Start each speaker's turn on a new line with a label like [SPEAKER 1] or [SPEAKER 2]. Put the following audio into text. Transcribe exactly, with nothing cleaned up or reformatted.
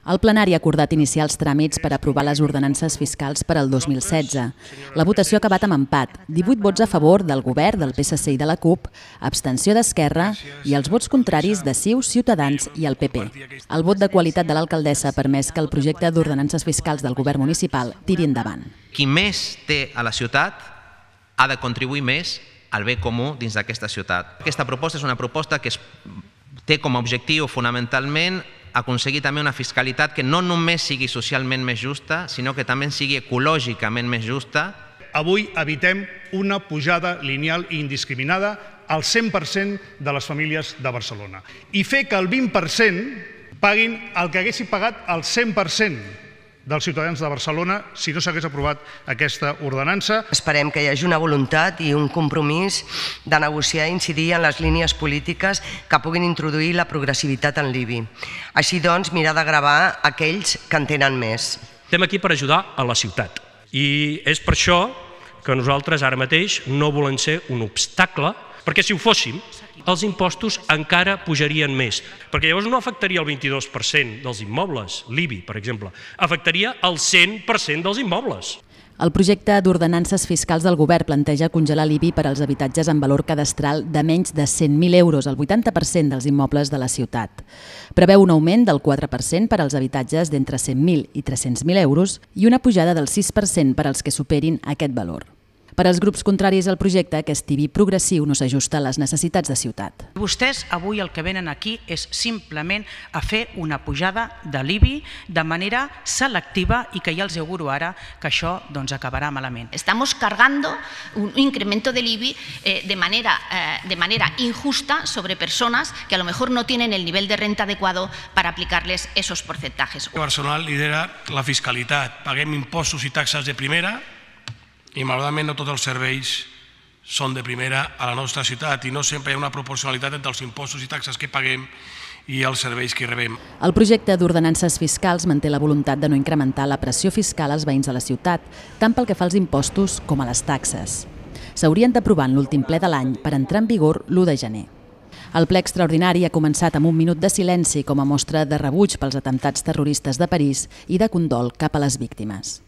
[SPEAKER 1] El plenari ha acordat iniciar els tràmits per aprovar les ordenances fiscals per al dos mil setze. La votació ha acabat amb empat, divuit vots a favor del Govern, del P S C i de la CUP, abstenció d'Esquerra i els vots contraris de C I U, Ciutadans i el P P. El vot de qualitat de l'alcaldessa ha permès que el projecte d'ordenances fiscals del Govern municipal tiri endavant.
[SPEAKER 2] Qui més té a la ciutat ha de contribuir més al bé comú dins d'aquesta ciutat. Aquesta proposta és una proposta que té com a objectiu fonamentalment aconseguir també una fiscalitat que no només sigui socialment més justa, sinó que també sigui ecològicament més justa.
[SPEAKER 3] Avui evitem una pujada lineal i indiscriminada al cent per cent de les famílies de Barcelona i fer que el vint per cent paguin el que haguessin pagat el cent per cent dels ciutadans de Barcelona si no s'hagués aprovat aquesta ordenança.
[SPEAKER 4] Esperem que hi hagi una voluntat i un compromís de negociar i incidir en les línies polítiques que puguin introduir la progressivitat en l'I B I. Així doncs, mirar de gravar aquells que en tenen més.
[SPEAKER 5] Estem aquí per ajudar a la ciutat i és per això que nosaltres ara mateix no volem ser un obstacle, perquè si ho fóssim, els impostos encara pujarien més, perquè llavors no afectaria el vint-i-dos per cent dels immobles, l'I B I, per exemple, afectaria el cent per cent dels immobles.
[SPEAKER 1] El projecte d'ordenances fiscals del Govern planteja congelar l'I B I per als habitatges amb valor cadastral de menys de cent mil euros, el vuitanta per cent dels immobles de la ciutat. Preveu un augment del quatre per cent per als habitatges d'entre cent mil i tres-cents mil euros i una pujada del sis per cent per als que superin aquest valor. Per als grups contraris al projecte, aquest I B I progressiu no s'ajusta a les necessitats de ciutat.
[SPEAKER 6] Vostès avui el que venen aquí és simplement a fer una pujada de l'I B I de manera selectiva i que ja els auguro ara que això doncs, acabarà malament.
[SPEAKER 7] Estamos cargando un incremento del I B I eh, de, manera, eh, de manera injusta sobre personas que a lo mejor no tienen el nivel de renta adecuado para aplicarles esos porcentajes.
[SPEAKER 8] Barcelona lidera la fiscalitat. Paguem impostos i taxes de primera i malauradament no tots els serveis són de primera a la nostra ciutat i no sempre hi ha una proporcionalitat entre els impostos i taxes que paguem i els serveis que rebem.
[SPEAKER 1] El projecte d'ordenances fiscals manté la voluntat de no incrementar la pressió fiscal als veïns de la ciutat, tant pel que fa als impostos com a les taxes. S'haurien d'aprovar en l'últim ple de l'any per entrar en vigor l'u de gener. El ple extraordinari ha començat amb un minut de silenci com a mostra de rebuig pels atemptats terroristes de París i de condol cap a les víctimes.